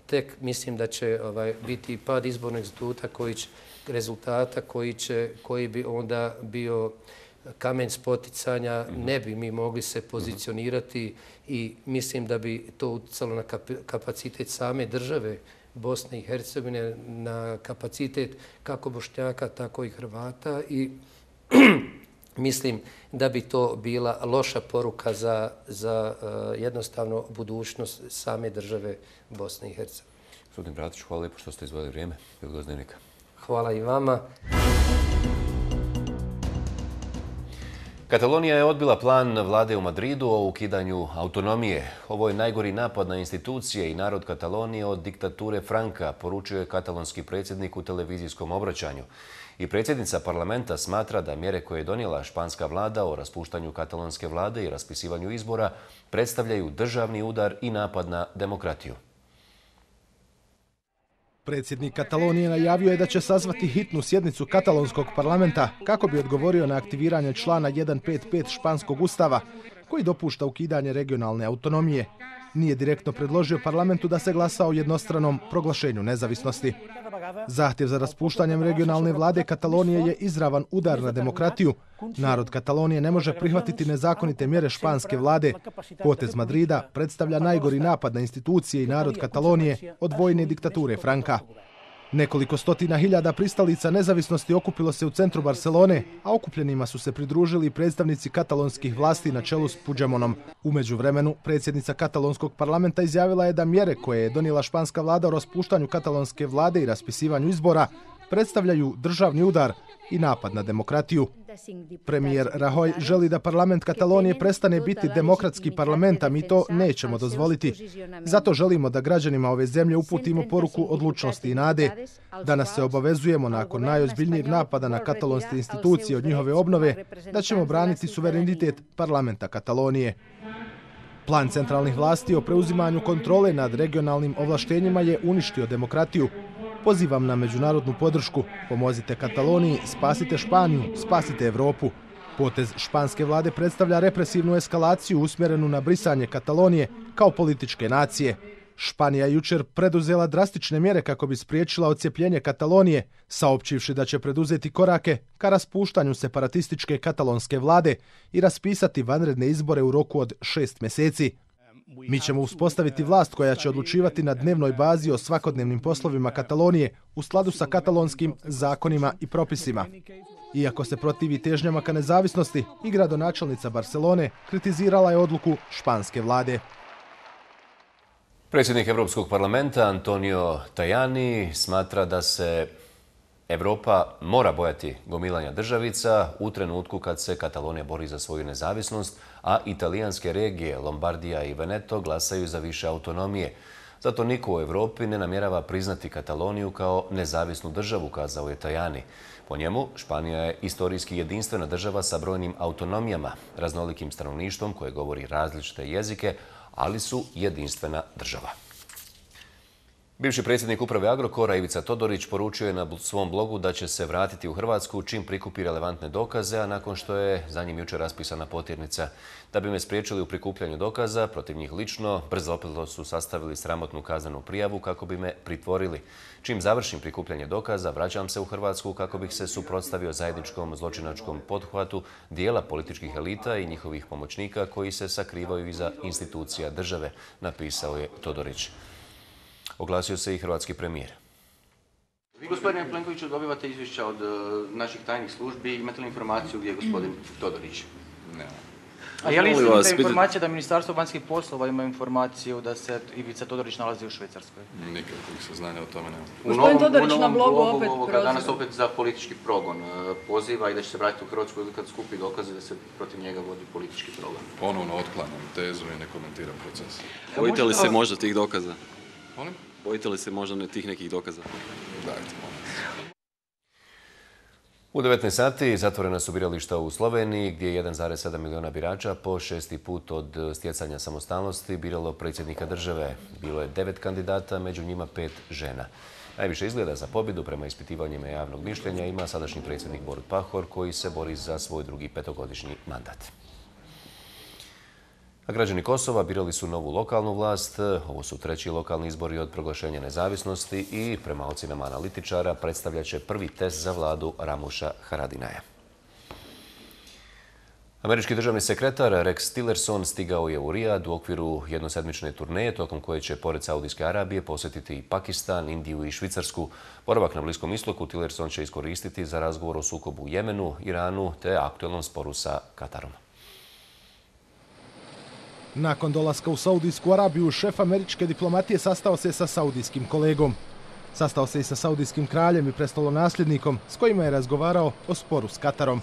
Speaker 18: tek mislim da će ovaj, biti pad izbornog instituta koji će, rezultata koji, će, koji bi onda bio kamen spoticanja, ne bi mi mogli se pozicionirati i mislim da bi to utjecalo na kapacitet same države Bosne i Hercegovine, na kapacitet kako Bošnjaka, tako i Hrvata i mislim da bi to bila loša poruka za, za uh, jednostavno budućnost same države Bosne i Hercegovine.
Speaker 2: Gospodin Bratić, hvala lijepo što ste izvojili vrijeme. Dnevnika.
Speaker 18: Hvala i vama.
Speaker 2: Katalonija je odbila plan vlade u Madridu o ukidanju autonomije. Ovo je najgori napad na institucije i narod Katalonije od diktature Franka, poručio je katalonski predsjednik u televizijskom obraćanju. I predsjednica parlamenta smatra da mjere koje je donijela španska vlada o raspuštanju katalonske vlade i raspisivanju izbora predstavljaju državni udar i napad na demokratiju.
Speaker 3: Predsjednik Katalonije najavio je da će sazvati hitnu sjednicu katalonskog parlamenta kako bi odgovorio na aktiviranje člana sto pedeset pet španskog ustava koji dopušta ukidanje regionalne autonomije. Nije direktno predložio parlamentu da se glasa o jednostranom proglašenju nezavisnosti. Zahtjev za raspuštanjem regionalne vlade Katalonije je izravan udar na demokratiju. Narod Katalonije ne može prihvatiti nezakonite mjere španske vlade. Potez Madrida predstavlja najgori napad na institucije i narod Katalonije od vojne diktature Franka. Nekoliko stotina hiljada pristalica nezavisnosti okupilo se u centru Barcelone, a okupljenima su se pridružili predstavnici katalonskih vlasti na čelu s Puigdemontom. U međuvremenu, predsjednica katalonskog parlamenta izjavila je da mjere koje je donijela španska vlada o raspuštanju katalonske vlade i raspisivanju izbora predstavljaju državni udar i napad na demokratiju. Premijer Rajoy želi da parlament Katalonije prestane biti demokratski parlament, a mi to nećemo dozvoliti. Zato želimo da građanima ove zemlje uputimo poruku odlučnosti i nade. Danas se obavezujemo nakon najozbiljnijeg napada na katalonske institucije od njihove obnove da ćemo braniti suverenitet parlamenta Katalonije. Plan centralnih vlasti o preuzimanju kontrole nad regionalnim ovlaštenjima je uništio demokratiju. Pozivam na međunarodnu podršku. Pomozite Kataloniji, spasite Španiju, spasite Evropu. Potez španske vlade predstavlja represivnu eskalaciju usmjerenu na brisanje Katalonije kao političke nacije. Španija je jučer preduzela drastične mjere kako bi spriječila odcjepljenje Katalonije, saopćivši da će preduzeti korake ka raspuštanju separatističke katalonske vlade i raspisati vanredne izbore u roku od šest mjeseci. Mi ćemo uspostaviti vlast koja će odlučivati na dnevnoj bazi o svakodnevnim poslovima Katalonije u skladu sa katalonskim zakonima i propisima. Iako se protivi težnjama ka nezavisnosti, i gradonačelnica Barcelone kritizirala je odluku španske vlade.
Speaker 2: Predsjednik Europskog parlamenta Antonio Tajani smatra da se Europa mora bojati gomilanja državica u trenutku kad se Katalonija bori za svoju nezavisnost, a italijanske regije Lombardija i Veneto glasaju za više autonomije. Zato niko u Europi ne namjerava priznati Kataloniju kao nezavisnu državu, kazao je Tajani. Po njemu, Španija je istorijski jedinstvena država sa brojnim autonomijama, raznolikim stanovništvom koje govori različite jezike, ali su jedinstvena država. Bivši predsjednik uprave Agrokora Ivica Todorić poručio je na svom blogu da će se vratiti u Hrvatsku čim prikupi relevantne dokaze, a nakon što je za njim jučer raspisana potjernica. Da bi me spriječili u prikupljanju dokaza protiv njih lično, brzo opet su sastavili sramotnu kaznenu prijavu kako bi me pritvorili. Čim završim prikupljanje dokaza, vraćam se u Hrvatsku kako bih se suprotstavio zajedničkom zločinačkom pothvatu dijela političkih elita i njihovih pomoćnika koji se sakrivaju iza institucija države, napisao je Todorić. Oglasio se i hrvatski premijer.
Speaker 19: Vi, gospodine Plenkoviću, dobivate izvješća od naših tajnih službi. Imate li informaciju gdje je gospodin Todorić?
Speaker 4: Ne.
Speaker 19: A je li istinita informacija da Ministarstvo vanjskih poslova ima informaciju da se Ivica Todorić nalazi u Švicarskoj?
Speaker 4: Nikakvih saznanja o tome nema.
Speaker 19: Gospodin Todorić na blogu opet proziva. Danas opet za politički progon poziva i da će se vratiti u Hrvatsku kad skupi dokaze da se protiv njega vodi politički progon.
Speaker 4: Ponovno otklanjam tezu i ne komentiram proces.
Speaker 20: Bojite li se možda tih dokaza?
Speaker 4: Molim?
Speaker 20: Bojite li se možda tih nekih dokaza?
Speaker 4: Dajte, molim.
Speaker 2: U devetnaest sati zatvorena su birališta u Sloveniji, gdje je jedan zarez sedam miliona birača po šesti put od stjecanja samostalnosti biralo predsjednika države. Bilo je devet kandidata, među njima pet žena. Najviše izgleda za pobjedu prema ispitivanjima javnog mišljenja ima sadašnji predsjednik Borut Pahor, koji se bori za svoj drugi petogodišnji mandat. A građani Kosova birali su novu lokalnu vlast. Ovo su treći lokalni izbori od proglašenja nezavisnosti i prema ocjenama analitičara predstavljat će prvi test za vladu Ramuša Haradinaja. Američki državni sekretar Rex Tillerson stigao je u Rijad u okviru jednosedmične turneje, tokom koje će pored Saudijske Arabije posjetiti i Pakistan, Indiju i Švicarsku. Boravak na Bliskom istoku Tillerson će iskoristiti za razgovor o sukobu u Jemenu, Iranu te aktualnom sporu sa Katarom.
Speaker 3: Nakon dolaska u Saudijsku Arabiju, šef američke diplomatije sastao se sa saudijskim kolegom. Sastao se i sa saudijskim kraljem i prestolonasljednikom, s kojima je razgovarao o sporu s Katarom.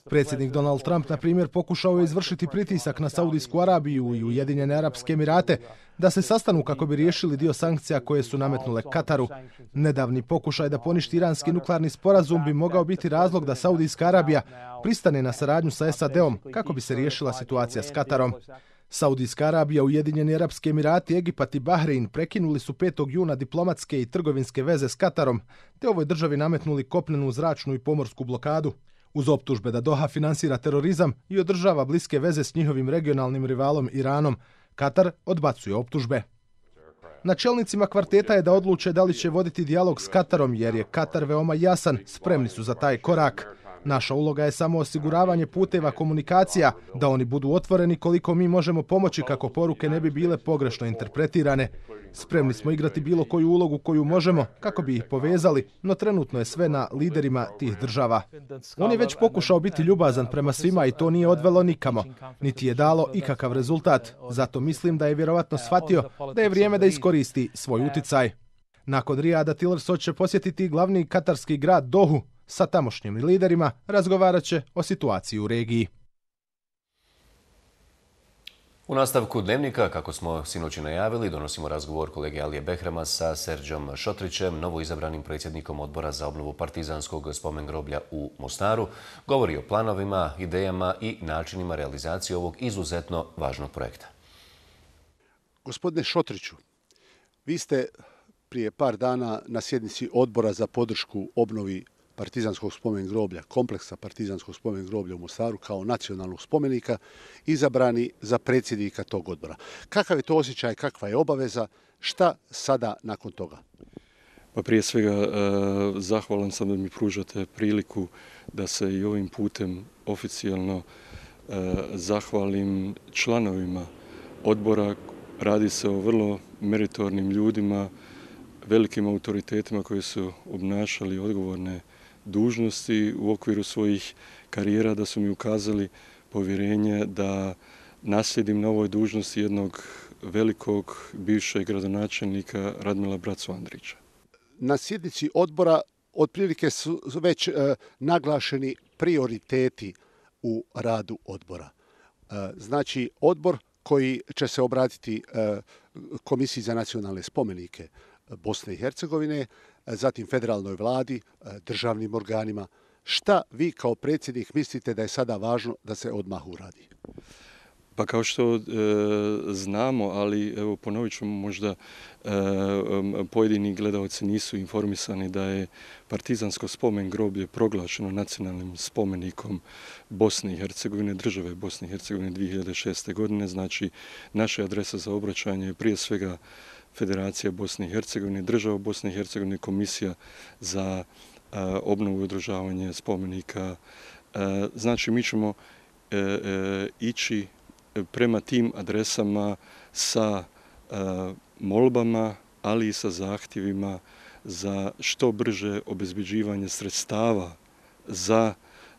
Speaker 3: Predsjednik Donald Trump, na primjer, pokušao je izvršiti pritisak na Saudijsku Arabiju i Ujedinjene Arapske Emirate da se sastanu kako bi riješili dio sankcija koje su nametnule Kataru. Nedavni pokušaj da poništi iranski nuklearni sporazum bi mogao biti razlog da Saudijska Arabija pristane na saradnju sa S A D-om kako bi se riješila situacija s Katarom. Saudijska Arabija, Ujedinjeni Arapski Emirati, Egipat i Bahrein prekinuli su petog juna diplomatske i trgovinske veze s Katarom, te ovoj državi nametnuli kopnenu, zračnu i pomorsku blokadu. Uz optužbe da Doha finansira terorizam i održava bliske veze s njihovim regionalnim rivalom Iranom, Katar odbacuje optužbe. Na čelnicima kvarteta je da odluče da li će voditi dijalog s Katarom, jer je Katar veoma jasan, spremni su za taj korak. Naša uloga je samo osiguravanje puteva komunikacija, da oni budu otvoreni koliko mi možemo pomoći kako poruke ne bi bile pogrešno interpretirane. Spremni smo igrati bilo koju ulogu koju možemo kako bi ih povezali, no trenutno je sve na liderima tih država. On je već pokušao biti ljubazan prema svima i to nije odvelo nikamo, niti je dalo ikakav rezultat. Zato mislim da je vjerovatno shvatio da je vrijeme da iskoristi svoj uticaj. Nakon Rijada Tillerson će posjetiti glavni katarski grad Dohu. Sa tamošnjim liderima razgovarat će o situaciji u regiji.
Speaker 2: U nastavku Dnevnika, kako smo sinoć najavili, donosimo razgovor kolege Alije Behrama sa Serdžom Šotrićem, novoizabranim predsjednikom Odbora za obnovu partizanskog spomen groblja u Mostaru. Govori o planovima, idejama i načinima realizacije ovog izuzetno važnog projekta.
Speaker 21: Gospodine Šotriću, vi ste prije par dana na sjednici Odbora za podršku obnovi partizanskog spomen groblja, kompleksa partizanskog spomen groblja u Mostaru kao nacionalnog spomenika, izabrani za predsjednika tog odbora. Kakav je to osjećaj, kakva je obaveza, šta sada nakon toga?
Speaker 22: Pa prije svega zahvalan sam da mi pružate priliku da se i ovim putem oficijalno zahvalim članovima odbora. Radi se o vrlo meritornim ljudima, velikim autoritetima koji su obnašali odgovorne dužnosti u okviru svojih karijera, da su mi ukazali povjerenje da naslijedim na ovoj dužnosti jednog velikog bivšeg gradonačelnika Radmila Bracu Andrića.
Speaker 21: Na sjednici odbora otprilike su već naglašeni prioriteti u radu odbora. Znači, odbor koji će se obratiti Komisiji za nacionalne spomenike Bosne i Hercegovine, zatim federalnoj vladi, državnim organima. Šta vi kao predsjednik mislite da je sada važno da se odmah uradi?
Speaker 22: Pa kao što e, znamo, ali evo ponovit ću, možda e, pojedini gledalci nisu informisani da je Partizansko spomen groblje proglašeno nacionalnim spomenikom Bosne i Hercegovine, države Bosne i Hercegovine dvije hiljade šeste. godine. Znači, naša adresa za obraćanje je prije svega Federacija Bosne i Hercegovine, država Bosne i Hercegovine, Komisija za e, obnovu i održavanje spomenika. E, znači, mi ćemo e, e, ići prema tim adresama sa e, molbama, ali i sa zahtjevima za što brže obezbeđivanje sredstava za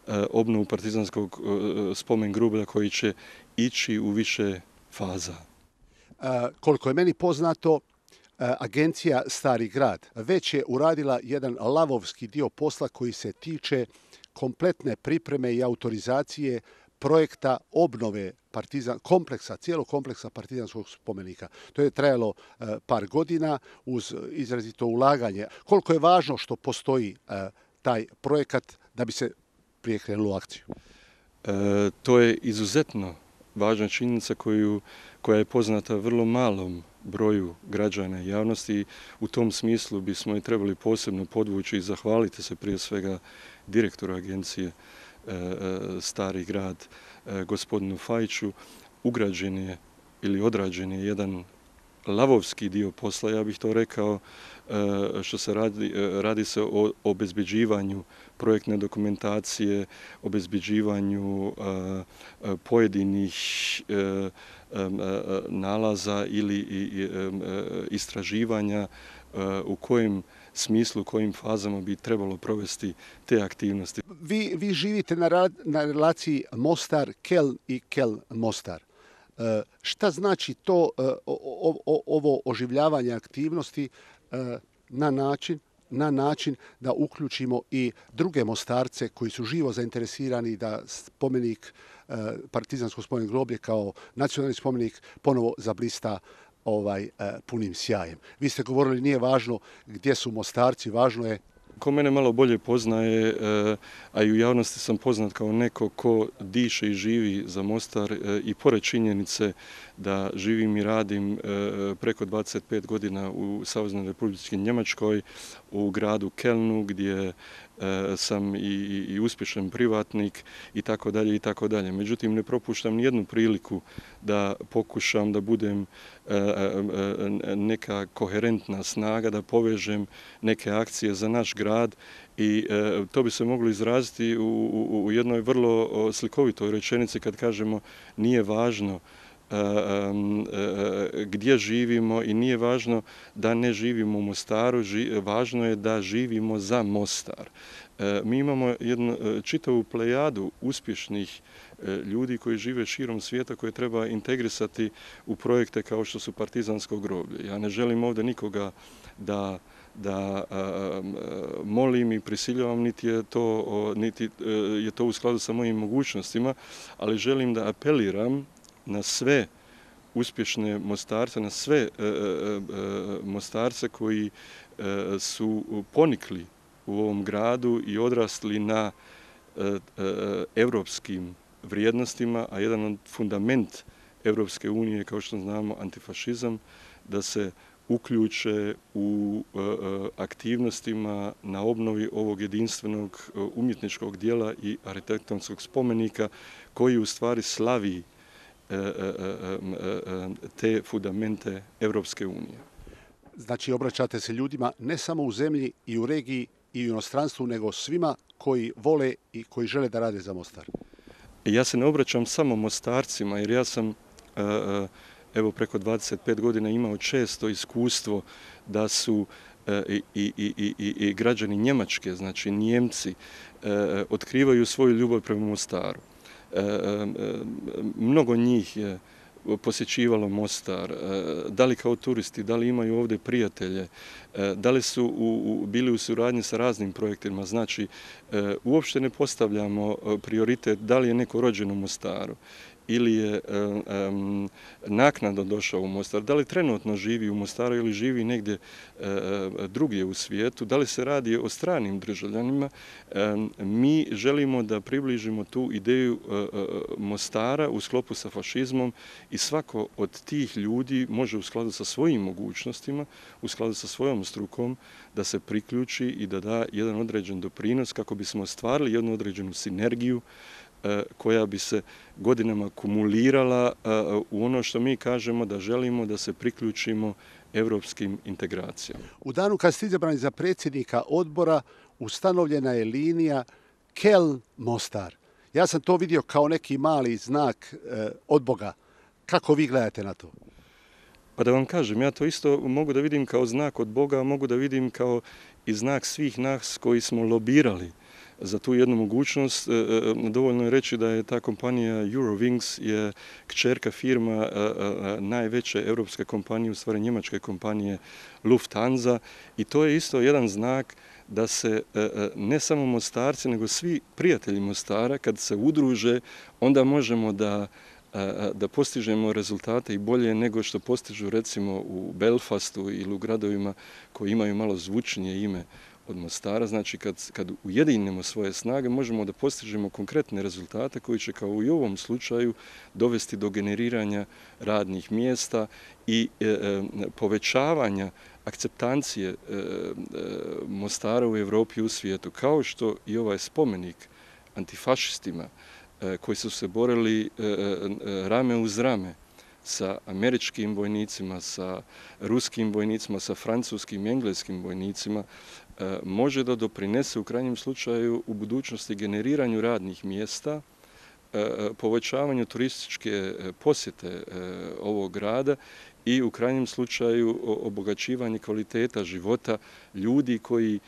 Speaker 22: e, obnovu Partizanskog e, spomen groblja koji će ići u više faza.
Speaker 21: E, koliko je meni poznato, e, agencija Stari grad već je uradila jedan lavovski dio posla koji se tiče kompletne pripreme i autorizacije projekta obnove partizan, kompleksa, cijelog kompleksa partizanskog spomenika. To je trajalo e, par godina uz izrazito ulaganje. Koliko je važno što postoji e, taj projekat da bi se prije krenulo u akciju?
Speaker 22: E, to je izuzetno važna činjenica koju, koja je poznata vrlo malom broju građana i javnosti. U tom smislu bismo i trebali posebno podvući i zahvaliti se prije svega direktoru agencije Stari grad, gospodinu Fajiću. Ugrađen je ili odrađen je jedan lavovski dio posla, ja bih to rekao, što se radi, radi se o obezbeđivanju projektne dokumentacije, obezbeđivanju pojedinih nalaza ili istraživanja u kojim smislu, u kojim fazama bi trebalo provesti te aktivnosti.
Speaker 21: Vi, vi živite na, ra, na relaciji Mostar-Keln i Keln-Mostar. E, šta znači to e, o, o, ovo oživljavanje aktivnosti e, na način na način da uključimo i druge Mostarce koji su živo zainteresirani da spomenik, e, Partizansko spomenik groblje kao nacionalni spomenik ponovo zablista ovaj punim sjajem. Vi ste govorili nije važno gdje su Mostarci, važno je...
Speaker 22: Ko mene malo bolje poznaje, a i u javnosti sam poznat kao neko ko diše i živi za Mostar i pored činjenice da živim i radim preko dvadeset pet godina u Saveznoj Republici Njemačkoj, u gradu Kelnu gdje sam i, i, i uspješan privatnik i tako dalje i tako dalje. Međutim, ne propuštam ni jednu priliku da pokušam da budem neka koherentna snaga, da povežem neke akcije za naš grad i to bi se moglo izraziti u, u, u jednoj vrlo slikovitoj rečenici kad kažemo nije važno gdje živimo i nije važno da ne živimo u Mostaru, važno je da živimo za Mostar. Mi imamo jednu čitavu plejadu uspješnih ljudi koji žive širom svijeta koje treba integrisati u projekte kao što su Partizansko groblje. Ja ne želim ovdje nikoga da da a, molim i prisiljavam, niti je to, niti je to u skladu sa mojim mogućnostima, ali želim da apeliram na sve uspješne Mostarce, na sve e, e, Mostarce koji e, su ponikli u ovom gradu i odrasli na e, e, evropskim vrijednostima, a jedan od fundament Evropske unije, kao što znamo, antifašizam, da se uključe u e, aktivnostima na obnovi ovog jedinstvenog umjetničkog dijela i arhitektonskog spomenika koji u stvari slavi te fundamente Evropske unije.
Speaker 21: Znači, obraćate se ljudima ne samo u zemlji i u regiji i u inostranstvu, nego svima koji vole i koji žele da rade za Mostar.
Speaker 22: Ja se ne obraćam samo Mostarcima, jer ja sam evo preko dvadeset pet godina imao često iskustvo da su i, i, i, i, i građani Njemačke, znači Njemci, otkrivaju svoju ljubav prema Mostaru. E, e, mnogo njih je posjećivalo Mostar, da li kao turisti, da li imaju ovdje prijatelje, da li su u, u, bili u suradnji sa raznim projektima. Znači, uopšte ne postavljamo prioritet da li je neko rođen u Mostaru ili je um, naknadno došao u Mostar, da li trenutno živi u Mostaru ili živi negdje uh, drugdje u svijetu, da li se radi o stranim državljanima, um, mi želimo da približimo tu ideju uh, Mostara u sklopu sa fašizmom i svako od tih ljudi može u skladu sa svojim mogućnostima, u skladu sa svojom strukom, da se priključi i da da jedan određen doprinos kako bismo ostvarili jednu određenu sinergiju koja bi se godinama kumulirala u ono što mi kažemo da želimo da se priključimo evropskim integracijama.
Speaker 21: U danu kad ste izabrani za predsjednika odbora ustanovljena je linija Keln-Mostar. Ja sam to vidio kao neki mali znak od Boga. Kako vi gledate na to?
Speaker 22: Pa da vam kažem, ja to isto mogu da vidim kao znak od Boga, mogu da vidim kao i znak svih nas koji smo lobirali za tu jednu mogućnost. Dovoljno je reći da je ta kompanija Eurowings je kćerka firma najveće europske kompanije, u stvari njemačke kompanije Lufthansa, i to je isto jedan znak da se ne samo Mostarci, nego svi prijatelji Mostara, kad se udruže, onda možemo da da postižemo rezultate i bolje nego što postižu recimo u Belfastu ili u gradovima koji imaju malo zvučnije ime od Mostara. Znači, kad, kad ujedinimo svoje snage, možemo da postižemo konkretne rezultate koji će, kao i u ovom slučaju, dovesti do generiranja radnih mjesta i e, e, povećavanja akceptancije e, e, Mostara u Evropi i u svijetu, kao što i ovaj spomenik antifašistima koji su se borili rame uz rame sa američkim vojnicima, sa ruskim vojnicima, sa francuskim i engleskim vojnicima, može da doprinese u krajnjem slučaju u budućnosti generiranju radnih mjesta, povećavanju turističke posjete ovog grada i u krajnjem slučaju obogaćivanje kvaliteta života ljudi koji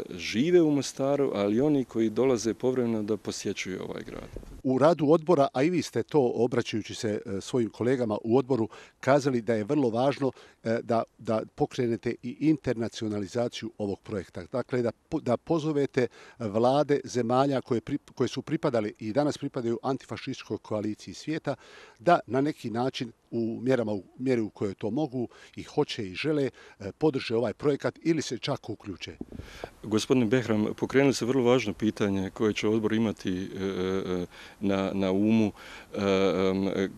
Speaker 22: žive u Mostaru, ali oni koji dolaze povremeno da posjećuju ovaj grad.
Speaker 21: U radu odbora, a i vi ste to, obraćajući se svojim kolegama u odboru, kazali da je vrlo važno da, da pokrenete i internacionalizaciju ovog projekta. Dakle, da, da pozovete vlade zemalja koje, pri, koje su pripadali i danas pripadaju antifašističkoj koaliciji svijeta, da na neki način u mjerama, u mjeri u kojoj to mogu i hoće i žele, podrže ovaj projekat ili se čak uključe.
Speaker 22: Gospodine Behram, pokrenuli se vrlo važno pitanje koje će odbor imati na, na umu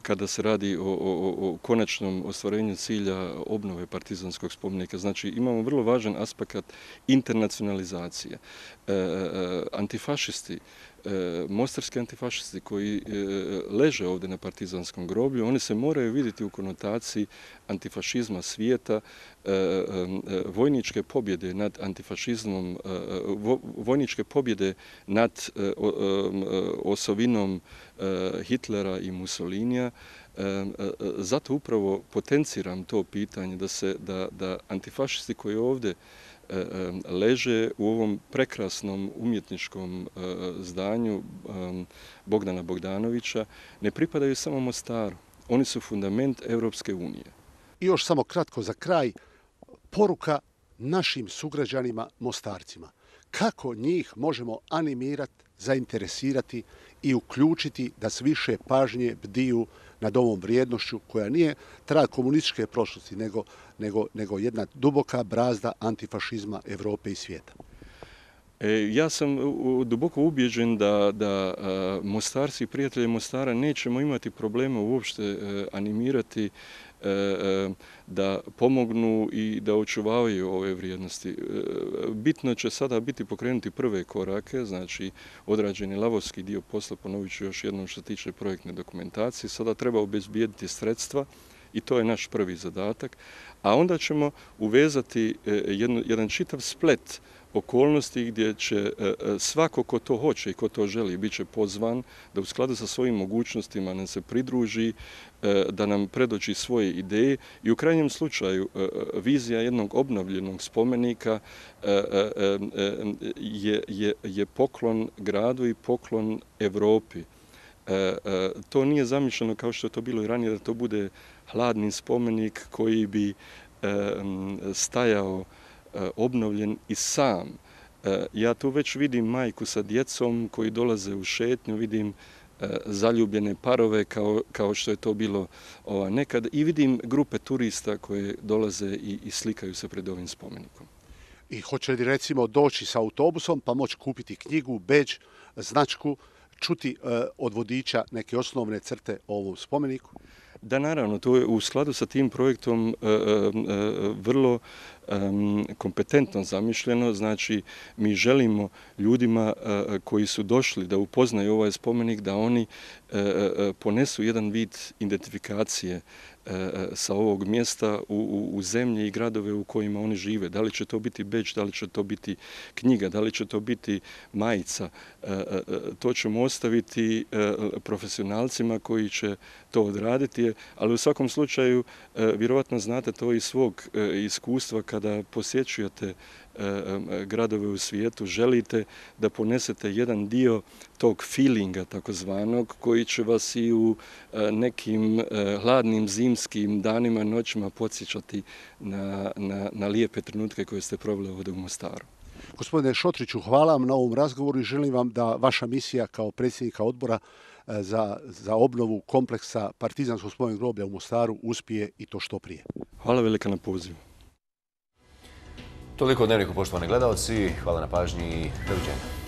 Speaker 22: kada se radi o, o, o konačnom ostvarenju cilja obnove partizanskog spomenika. Znači, imamo vrlo važan aspekt internacionalizacije. Antifašisti, mostarski antifašisti koji leže ovdje na partizanskom groblju, oni se moraju vidjeti u konotaciji antifašizma svijeta, vojničke pobjede nad antifašizmom, vojničke pobjede nad osovinom Hitlera i Mussolinija. Zato upravo potenciram to pitanje da se da, da antifašisti koji ovdje leže u ovom prekrasnom umjetničkom zdanju Bogdana Bogdanovića ne pripadaju samo Mostaru. Oni su fundament Evropske unije.
Speaker 21: I još samo kratko za kraj, poruka našim sugrađanima Mostarcima. Kako njih možemo animirati, zainteresirati i uključiti da s više pažnje bdiju nad ovom vrijednošću koja nije trag komunističke prošlosti, nego, nego, nego jedna duboka brazda antifašizma Evrope i svijeta.
Speaker 22: E, ja sam duboko ubjeđen da, da Mostarci i prijatelji Mostara nećemo imati problema uopšte animirati da pomognu i da očuvavaju ove vrijednosti. Bitno će sada biti pokrenuti prve korake, znači odrađeni lavovski dio posla, ponovit ću još jednom što se tiče projektne dokumentacije. Sada treba obezbijediti sredstva i to je naš prvi zadatak, a onda ćemo uvezati jedno, jedan čitav splet okolnosti gdje će svako ko to hoće i ko to želi bit će pozvan da u skladu sa svojim mogućnostima nam se pridruži, da nam predoči svoje ideje i u krajnjem slučaju vizija jednog obnovljenog spomenika je, je, je poklon gradu i poklon Evropi. To nije zamišljeno kao što je to bilo i ranije, da to bude hladni spomenik koji bi stajao obnovljen i sam. Ja tu već vidim majku sa djecom koji dolaze u šetnju, vidim zaljubljene parove kao, kao što je to bilo ova, nekad i vidim grupe turista koje dolaze i, i slikaju se pred ovim spomenikom.
Speaker 21: I hoće li recimo doći sa autobusom pa moći kupiti knjigu, bedž, značku, čuti e, od vodiča neke osnovne crte o ovom spomeniku?
Speaker 22: Da, naravno, to je u skladu sa tim projektom e, e, vrlo e, kompetentno zamišljeno. Znači, mi želimo ljudima e, koji su došli da upoznaju ovaj spomenik, da oni e, e, ponesu jedan vid identifikacije e, sa ovog mjesta u, u, u zemlji i gradove u kojima oni žive. Da li će to biti bedž, da li će to biti knjiga, da li će to biti majica. E, e, to ćemo ostaviti e, profesionalcima koji će to odraditi, ali u svakom slučaju vjerovatno znate to iz svog iskustva kada posjećujete gradove u svijetu, želite da ponesete jedan dio tog feelinga takozvanog koji će vas i u nekim hladnim zimskim danima, noćima podsjećati na, na, na lijepe trenutke koje ste proveli ovdje u Mostaru.
Speaker 21: Gospodine Šotriću, hvala vam na ovom razgovoru i želim vam da vaša misija kao predsjednika odbora za, za obnovu kompleksa Partizanskog spomen groblja u Mostaru uspije i to što prije.
Speaker 22: Hvala velika na pozivu.
Speaker 2: Toliko o Dnevniku, poštovani gledalci. Hvala na pažnji i doviđenja.